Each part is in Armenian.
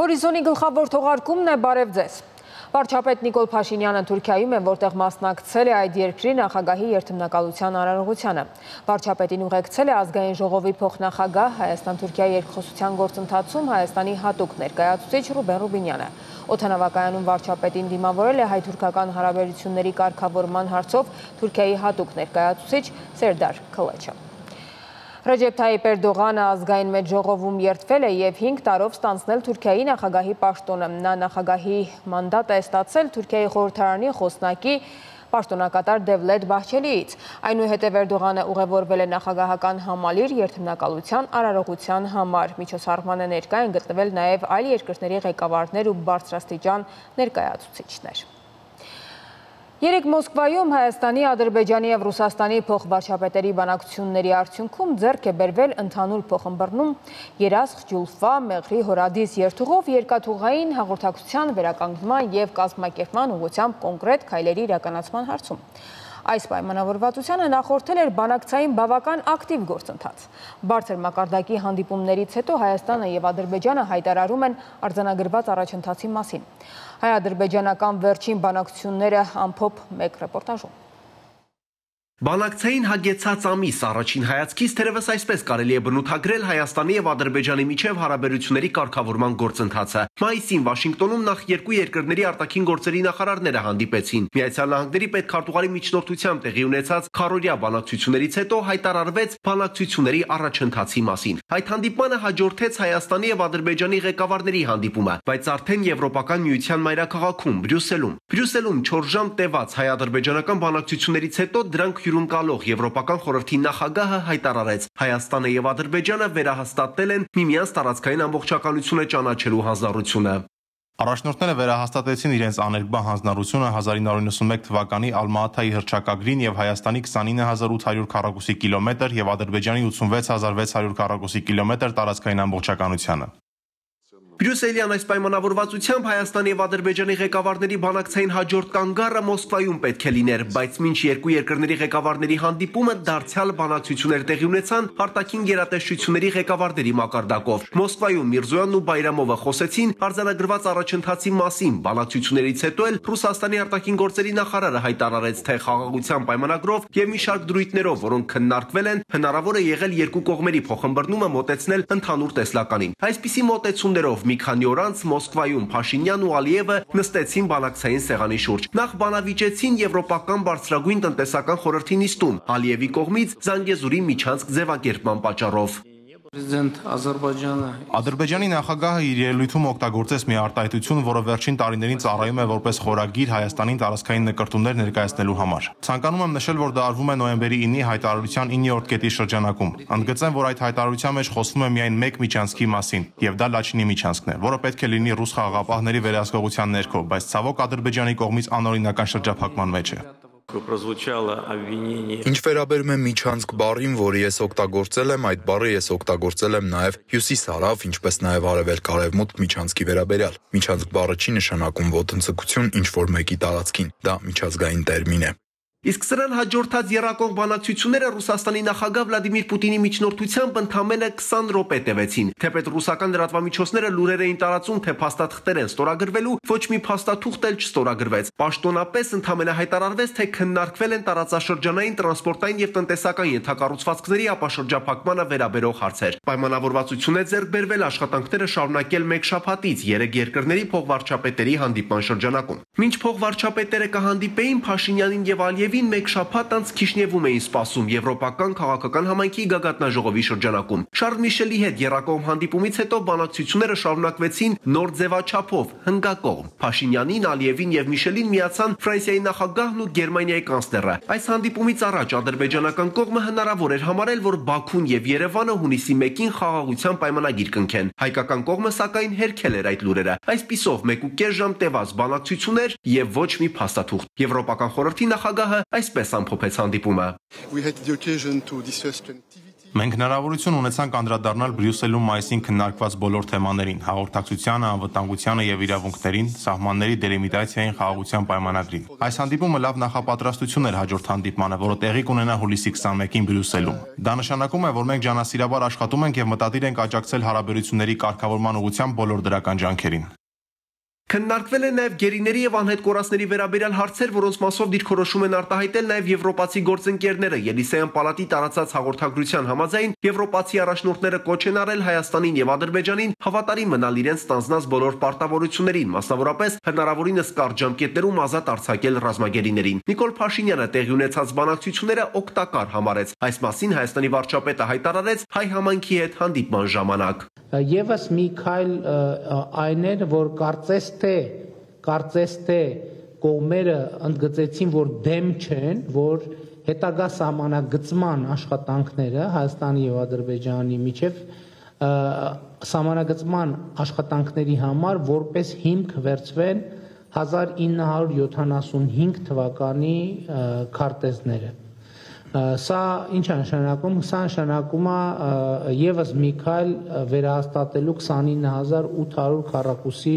Հորիզոնի գլխավոր թողարկումն է բարև ձեզ։ Վարչապետ Նիկոլ Փաշինյանը Թուրքիայում է, որտեղ մասնակցել է այդ երկրի նախագահի երթմնակալության արարողությանը։ Վարչապետին ուղեկցել է ազգային ժողովի փոխնախագահ Հայաստան-Թուրքիա երկխոսության գործընթացում Հայաստանի հատուկ ներկայացուցիչ Ռուբեն Ռուբինյանը։ Օդանավակայանում վարչապետին դիմավորել է հայ-թուրքական հարաբերությունների կարգավորման հարցով Թուրքիայի հատուկ ներկայացուցիչ Սերդար Քլեչը։ Ռեջեփ Թայիպ Էրդողանը ազգային մեծ ժողովում երդվել է եւ 5 տարով ստանձնել Թուրքիայի նախագահի պաշտոնը։ Նա նախագահի մանդատ է ստացել Թուրքիայի խորհրդարանի խոսնակի պաշտոնակատար Դևլետ Բահչելիից։ Այնուհետև Էրդողանը ուղևորվել է նախագահական համալիր երթմնակալության արարողության համար։ Միջոցառմանը ներկա են գտնվել նաեւ այլ երկրների ղեկավարներ ու բարձրաստիճան ներկայացուցիչներ։ Երեկ Մոսկվայում Հայաստանի, Ադրբեջանի և Ռուսաստանի փոխվարչապետերի բանակցությունների արդյունքում ձեռք է բերվել ընդհանուր փոխըմբռնում երասխ, ջուլֆա, մեղրի հորադիս երթուղով երկաթուղային հաղորդակցության վերականգնման և կազմակերպման ուղղությամբ կոնկրետ քայլերի իրականացման հարցում։ Այս պայմանավորվածությանը նախորդել էր բանակցային բավական ակտիվ գործընթաց։ Բարձր մակարդակի հանդիպումներից հետո Հայաստանը և Ադրբեջանը հայտարարում են արձանագրված առաջընթացի մասին։ Հայ-ադրբեջանական վերջին բանակցությունները ամփոփ մեկ ռեպորտաժում։ Բանակցային հագեցած ամիս առաջին հայացքից թերևս այսպես կարելի է բնութագրել Հայաստանի և Ադրբեջանի միջև հարաբերությունների կարգավորման գործընթացը։ Մայիսին Վաշինգտոնում նախ երկու երկրների արտաքին գործերի նախարարները հանդիպեցին։ Միացյալ Նահանգների պետքարտուղարի միջնորդությամբ տեղի ունեցած քառօրյա բանակցություններից հետո հայտարարվեց բանակցությունների առաջընթացի մասին։ Այդ հանդիպմանը հաջորդեց Հայաստանի և Ադրբեջանի ղեկավարների հանդիպումը, բայց արդեն Եվրոպական միության մայրաքաղաքում Բրյուսելում։ Բրյուսելում 4 ժամ տևած հայ-ադրբեջանական բանակցություններից հետո դրանք հյուրընկալող Եվրոպական խորհրդի նախագահը հայտարարեց. Հայաստանը եւ Ադրբեջանը վերահաստատել են միմյանց տարածքային ամբողջականությունը ճանաչելու հանձնառությունը։ Առաջնորդները վերահաստատեցին իրենց աներկբա հանձնառությունը 1991 թվականի Ալմա-Աթայի հռչակագրին եւ Հայաստանի 29800 քառակուսի կիլոմետր եւ Ադրբեջանի 86600 քառակուսի կիլոմետր տարածքային ամբողջականությանը։ Բրյուսելյան այս պայմանավորվածությամբ Հայաստանի և Ադրբեջանի ղեկավարների բանակցային հաջորդ կանգառը Մոսկվայում պետք է լիներ, բայց մինչ երկու երկրների ղեկավարների հանդիպումը դարձյալ բանակցություններ տեղի ունեցան արտաքին գերատեսչությունների ղեկավարների մակարդակով։ Մոսկվայում Միրզոյանն ու Բայրամովը խոսեցին արձանագրված առաջընթացի մասին։ Բանակցություններից հետո էլ Ռուսաստանի արտաքին գործերի նախարարը հայտարարեց, թե խաղաղության պայմանագրով եւ մի շարք դրույթներով, որոնք քննարկվել են, հնարավոր է եղել երկու կողմերի փոխըմբռնումը մոտեցնել ընդհանուր տեսլականին։ Այսպիսի մոտեցումներով մի քանի օր անց Մոսկվայում Փաշինյանն ու Ալիևը նստեցին բանակցային սեղանի շուրջ։ Նախ բանավիճեցին Եվրոպական բարձրագույն տնտեսական խորհրդի նիստում Ալիևի կողմից Զանգեզուրի միջանցք ձևակերպման պատճառով։ Ադրբեջանի նախագահը իր ելույթում օգտագործեց մի արտահայտություն, որը վերջին տարիներին ծառայում է որպես խորագիր Հայաստանին տարածքային նկրտումներ ներկայացնելու համար։ Ցանկանում եմ նշել, որ դա արվում է նոյեմբերի 9-ի հայտարարության 9-րդ կետի շրջանակում։ Ընդգծեմ, որ այդ հայտարարության մեջ խոսվում է միայն մեկ միջանցքի մասին, եւ դա Լաչինի միջանցքն է, որը պետք է լինի ռուս խաղաղապահների վերահսկողության ներքո, բայց ցավոք Ադրբեջանի կողմից անօրինական շրջափակման մեջ է։ Ինչ վերաբերում է միջանցք բառին, որը ես օգտագործել եմ, այդ բառը ես օգտագործել եմ նաև հյուսիս-հարավ, ինչպես նաև արևելք-արևմուտք միջանցքի վերաբերյալ։ Միջանցք բառը չի նշանակում ոտնձգություն ինչ-որ մեկի տարածքին, դա միջազգային տերմին է։ Իսկ սրան հաջորդած եռակող բանակցությունները Ռուսաստանի նախագահ Վլադիմիր Պուտինի միջնորդությամբ ընդամենը 20 րոպե տևեցին։ Թեպետ ռուսական լրատվամիջոցները լուրեր էին տարածում, թե փաստաթղթեր են ստորագրվելու, ոչ մի փաստաթուղթ էլ չստորագրվեց։ Պաշտոնապես ընդամենը հայտարարվեց, թե քննարկվել են տարածաշրջանային տրանսպորտային եւ տնտեսական ենթակառուցվածքների ապաշրջափակմանը վերաբերող հարցեր։ Պայմանավորվածություն է ձեռք բերվել աշխատանքները շարունակել մեկ շաբաթից 3 երկրների փոխվարչապետերի հանդիպման շրջանակում։ Մինչ փոխվարչապետերը կհանդիպեին Փաշինյանին եւ Ալիևին մեկ շաբաթ անց Քիշնևում էին սպասում Եվրոպական քաղաքական համայնքի գագաթնաժողովի շրջանակում։ Շարլ Միշելի հետ եռակողմ հանդիպումից հետո բանակցությունները շարունակվեցին նոր ձևաչափով, հնգակողմ։ Փաշինյանին, Ալիևին եւ Միշելին միացան Ֆրանսիայի նախագահն ու Գերմանիայի կանցլերը։ Այս հանդիպումից առաջ ադրբեջանական կողմը հնարավոր էր համարել, որ Բաքուն եւ Երևանը հունիսի 1-ին խաղաղության պայմանագիր կնքեն։ Հայկական կողմը սակայն հերքել էր այդ լուրերը։ Այսպիսով 1.5 ժամ տևած բանակցություններ եւ ոչ մի փաստաթուղթ։ Եվրոպական խորհրդի նախագահը այսպես ամփոփեց հանդիպումը։ Մենք հնարավորություն ունեցանք անդրադառնալ Բրյուսելում մայիսին քննարկված բոլոր թեմաներին՝ հաղորդակցությանը, անվտանգությանը եւ իրավունքներին, սահմանների դելիմիտացիային, խաղաղության պայմանագրին։ Այս հանդիպումը լավ նախապատրաստություն էր հաջորդ հանդիպմանը, որը տեղի կունենա հուլիսի 21-ին Բրյուսելում։ Դա նշանակում է, որ մենք ջանասիրաբար աշխատում ենք եւ մտադիր ենք աջակցել հարաբերությունների կարգավորման ուղղությամբ բոլոր դրական ջանքերին։ Քննարկվել է նաև գերիների եւ անհետ կորածների վերաբերյալ հարցեր, որոնց մասով դիրքորոշում են արտահայտել նաև եվրոպացի գործընկերները։ Ելիսեյան պալատի տարածած հաղորդագրության համաձայն եվրոպացի առաջնորդները կոչ են արել Հայաստանին եւ Ադրբեջանին հավատարիմ մնալ իրենց ստանձնած բոլոր պարտավորություններին, մասնավորապես հնարավորինս կարճ ժամկետներում ազատ արձակել ռազմագերիներին։ Նիկոլ Փաշինյանը տեղի ունեցած բանակցությունները օգտակար համարեց։ Այս մասին Հայաստանի վարչապետը հայտարարեց հայ համայնքի հետ հանդիպման ժամանակ։ Եվս մի քայլ այն էր, որ կարծես թե կողմերը ընդգծեցին, որ դեմ չեն, որ հետագա սահմանագծման աշխատանքները Հայաստանի եւ Ադրբեջանի միջև սահմանագծման աշխատանքների համար որպես հիմք վերցվեն 1975 թվականի քարտեզները։ Սա ինչ է նշանակում։ Սա նշանակում է եւս մի քայլ վերահաստատելու 29800 քառակուսի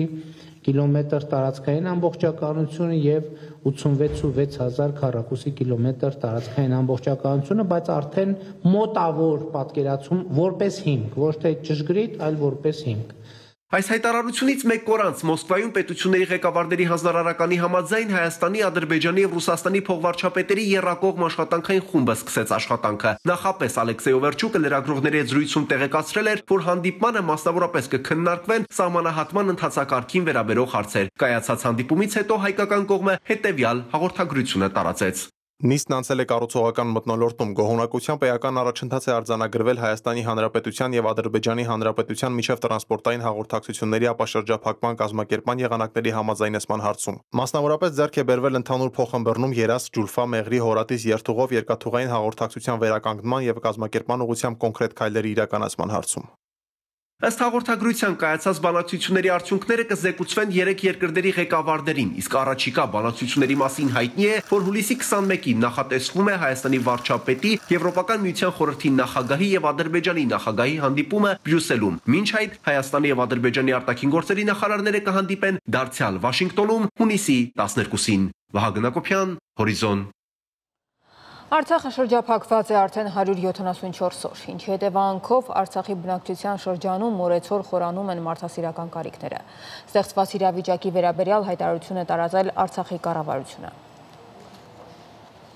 կիլոմետր տարածքային ամբողջականությունը եւ 86600 քառակուսի կիլոմետր տարածքային ամբողջականությունը, բայց արդեն մոտավոր պատկերացում որպես հիմք, ոչ թե ճշգրիտ, այլ որպես հիմք։ Այս հայտարարությունից մեկ օր անց Մոսկվայում պետությունների ղեկավարների հանձնարարականի համաձայն Հայաստանի, Ադրբեջանի եւ Ռուսաստանի փոխվարչապետերի եռակողմ աշխատանքային խումբը սկսեց աշխատանքը։ Նախապես Ալեքսեյ Օվերչուկը լրագրողների հետ զրույցում տեղեկացրել էր, որ հանդիպմանը մասնավորապես կքննարկվեն սահմանահատման ընթացակարգին վերաբերող հարցեր։ Կայացած հանդիպումից հետո հայկական կողմը հետեւյալ հաղորդագրությունը տարածեց։ Նիստն անցել է կառուցողական մթնոլորտում, գոհունակությամբ էական առաջընթաց է արձանագրվել Հայաստանի Հանրապետության եւ Ադրբեջանի Հանրապետության միջև տրանսպորտային հաղորդակցությունների ապաշրջափակման կազմակերպման եղանակների համաձայնեցման հարցում։ Մասնավորապես ձեռք է բերվել ընդհանուր փոխըմբռնում Երաստ, Ջուլֆա, Մեղրի, Հորատիս երթուղով երկաթուղային հաղորդակցության վերականգնման եւ կազմակերպման ուղղությամբ կոնկրետ քայլերի իրականացման հարցում։ Ըստ հաղորդագրության կայացած բանակցությունների արդյունքները կզեկուցվեն երեք երկրների ղեկավարներին, իսկ առաջիկա բանակցությունների մասին հայտնի է, որ հուլիսի 21-ին նախատեսվում է Հայաստանի վարչապետի, Եվրոպական միության խորհրդի նախագահի եւ Ադրբեջանի նախագահի հանդիպումը Բրյուսելում։ Մինչ այդ Հայաստանի եւ Ադրբեջանի արտաքին գործերի նախարարները կհանդիպեն դարձյալ Վաշինգտոնում հունիսի 12-ին։ Վահագն Հակոբյան, Հորիզոն։ Արցախը շրջափակված է արդեն 174 օր, ինչի հետևանքով Արցախի բնակչության շրջանում օրեցօր խորանում են մարդասիրական կարիքները։ Ստեղծված իրավիճակի վերաբերյալ հայտարարություն է տարածել Արցախի կառավարությունը։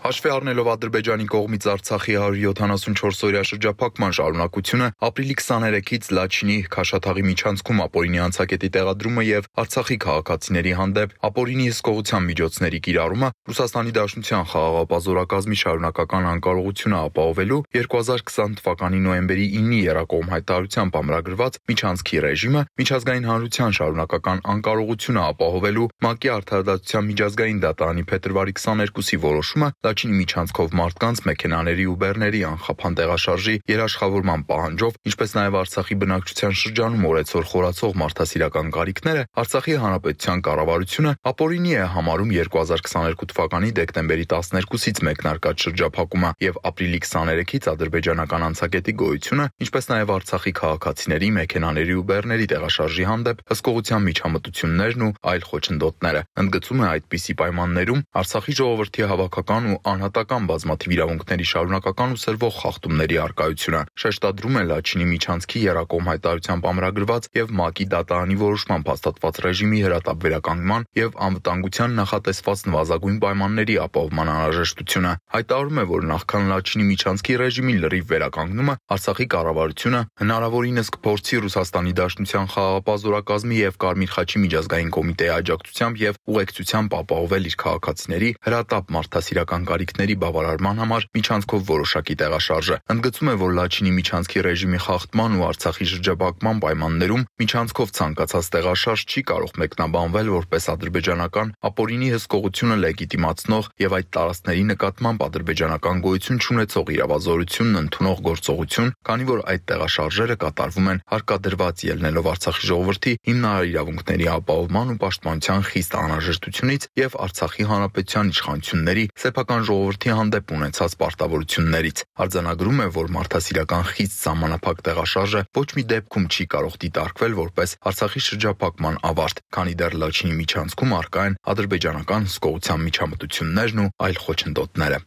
Հաշվի առնելով Ադրբեջանի կողմից Արցախի 174-օրյա շրջափակման շարունակությունը, ապրիլի 23-ից Լաչինի Քաշաթաղի միջանցքում ապօրինի անցակետի տեղադրումը եւ Արցախի քաղաքացիների հանդեպ ապօրինի հսկողության միջոցների կիրառումը Ռուսաստանի Դաշնության խաղաղապազորակազմի շարունակական անկարողությունը ապահովելու 2020 թվականի նոյեմբերի 9-ի եռակողմ հայտարարությամբ ամրագրված միջանցքի ռեժիմը, միջազգային հանրության շարունակական անկարողությունը ապահովելու ՄԱԿ-ի արդարադատության միջազգային դատարանի փետրվարի 22-ի որոշումը Լաչինի միջանցքով մարդկանց, մեքենաների ու բեռների անխափան տեղաշարժի երաշխավորման պահանջով, ինչպես նաև Արցախի բնակչության շրջանում օրեցօր խորացող մարդասիրական կարիքները, Արցախի Հանրապետության կառավարությունը ապօրինի է համարում 2022 թվականի դեկտեմբերի 12-ից մեկնարկած շրջափակումը եւ ապրիլի 23-ից ադրբեջանական անցակետի գոյությունը, ինչպես նաև Արցախի քաղաքացիների, մեքենաների ու բեռների տեղաշարժի հանդեպ հսկողության միջամտություններն ու այլ խոչընդոտները։ Ընդգծում է այդպիսի պայմաններում Արցախի ժողովրդի հավաքական ու անհատական բազմաթիվ իրավունքների շարունակական ու սրվող խախտումների առկայությունը, շեշտադրում է Լաչինի միջանցքի եռակողմ հայտարարությամբ ամրագրված եւ ՄԱԿ-ի դատարանի որոշմամբ հաստատված ռեժիմի հրատապ վերականգնման եւ անվտանգության նախատեսված նվազագույն պայմանների ապահովման անհրաժեշտությունը։ Հայտարարում է, որ նախքան Լաչինի միջանցքի ռեժիմի լրիվ վերականգնումը Արցախի կառավարությունը հնարավորինս կփորձի Ռուսաստանի Դաշնության խաղաղապազորակազմի եւ Կարմիր խաչի միջազգային կոմիտեի աջակցությամբ եւ ուղեկցությամբ ապահովել իր քաղաքացիների հրատապ մարդասիրական կարիքների բավարարման համար միջանցքով որոշակի տեղաշարժը։ Ընդգծում է, որ Լաչինի միջանցքի ռեժիմի խախտման ու Արցախի շրջափակման պայմաններում միջանցքով ցանկացած տեղաշարժ չի կարող մեկնաբանվել որպես ադրբեջանական ապօրինի հսկողությունը լեգիտիմացնող եւ այդ տարածքների նկատմամբ ադրբեջանական գոյություն չունեցող իրավազորությունն ընդունող գործողություն, քանի որ այդ տեղաշարժերը կատարվում են հարկադրված ելնելով Արցախի ժողովրդի հիմնարար իրավունքների ապահովման ու պաշտպանության խիստ անհրաժեշտությունից եւ Արցախի հանրապետության իշխանությունների սեփական ազգային ժողովրդի հանդեպ ունեցած պարտավորություններից։ Արձանագրում է, որ մարդասիրական խիստ սահմանափակ տեղաշարժը ոչ մի դեպքում չի կարող դիտարկվել որպես Արցախի շրջափակման ավարտ, քանի դեռ Լաչինի միջանցքում առկա են ադրբեջանական հսկողության միջամտություններն ու այլ խոչընդոտները։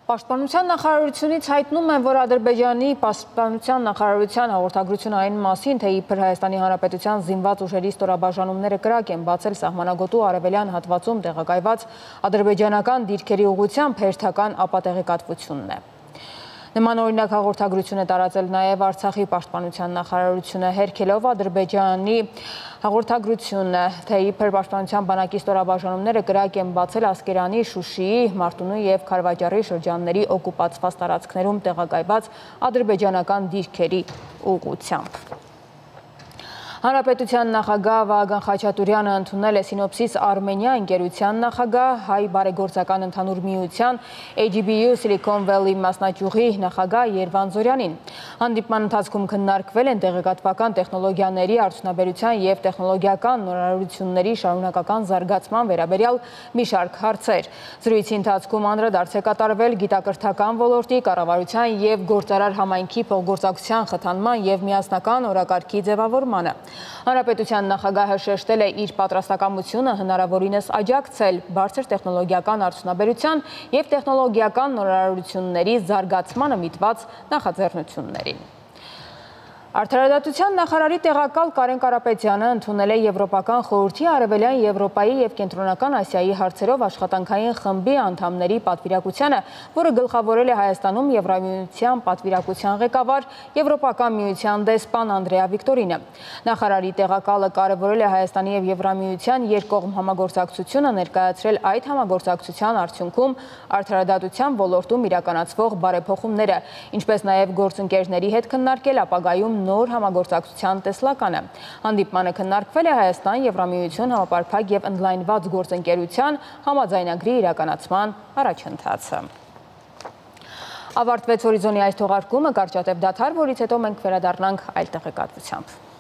Պաշտպանության նախարարությունից հայտնում են, որ Ադրբեջանի պաշտպանության նախարարության հաղորդագրությունը այն մասին, թե իբր Հայաստանի Հանրապետության զինված ուժերի ստորաբաժանումները կրակ են բացել սահմանագոտու արևելյան հատվածում տեղակայված ադրբեջանական դիրքերի ուղղությամբ հերթական ապատեղեկատվությունն է։ Նման օրինակ հաղորդագրություն է տարածել նաև Արցախի պաշտպանության նախարարությունը, հերքելով Ադրբեջանի հաղորդագրությունը, թե իբր պաշտպանության բանակի ստորաբաժանումները կրակ են բացել Ասկերանի, Շուշիի, Մարտունու եւ Քարվաճառի շրջանների օկուպացված տարածքներում տեղակայված ադրբեջանական դիրքերի ուղղությամբ։ Հանրապետության նախագահ Վահագն Խաչատուրյանը ընդունել է Սինոպսիս Արմենիա ընկերության նախագահ, Հայ բարեգործական ընդհանուր միության AGBU Silicon Valley մասնաճյուղի նախագահ Երվան Զորյանին։ Հանդիպման ընթացքում քննարկվել են տեղեկատվական տեխնոլոգիաների արդյունաբերության եւ տեխնոլոգիական նորարարությունների շարունակական զարգացման վերաբերյալ մի շարք հարցեր։ Զրույցի ընթացքում անդրադարձ է կատարվել գիտակրթական ոլորտի, կառավարության եւ գործարար համայնքի փոխգործակցության խթանման եւ միասնական օրակարգի ձևավորմանը։ Հանրապետության նախագահը շեշտել է իր պատրաստակամությունը հնարավորինս աջակցել բարձր տեխնոլոգիական արդյունաբերության եւ տեխնոլոգիական նորարարությունների զարգացմանը միտված նախաձեռնություններին։ Արդարադատության նախարարի տեղակալ Կարեն Կարապետյանը ընդունել է Եվրոպական խորհրդի Արևելյան Եվրոպայի եւ Կենտրոնական Ասիայի հարցերով աշխատանքային խմբի անդամների պատվիրակությանը, որը գլխավորել է Հայաստանում Եվրամիության պատվիրակության ղեկավար Եվրոպական միության դեսպան Անդրեա Վիկտորինը։ Նախարարի տեղակալը կարևորել է Հայաստանի եւ Եվրամիության երկկողմ համագործակցությունը, ներկայացրել այդ համագործակցության արդյունքում արդարադատության ոլորտում իրականացվող բարեփոխումները, ինչպես նաեւ գործընկերների հետ քննարկել ապագայում նոր համագործակցության տեսլականը։ Հանդիպմանը քննարկվել է Հայաստան Եվրամիություն համապարփակ եւ ընդլայնված գործընկերության համաձայնագրի իրականացման առաջընթացը։ Ավարտվեց Հորիզոնի այս թողարկումը, կարճատև դադար, որից հետո մենք վերադառնանք այլ տեղեկատվությամբ։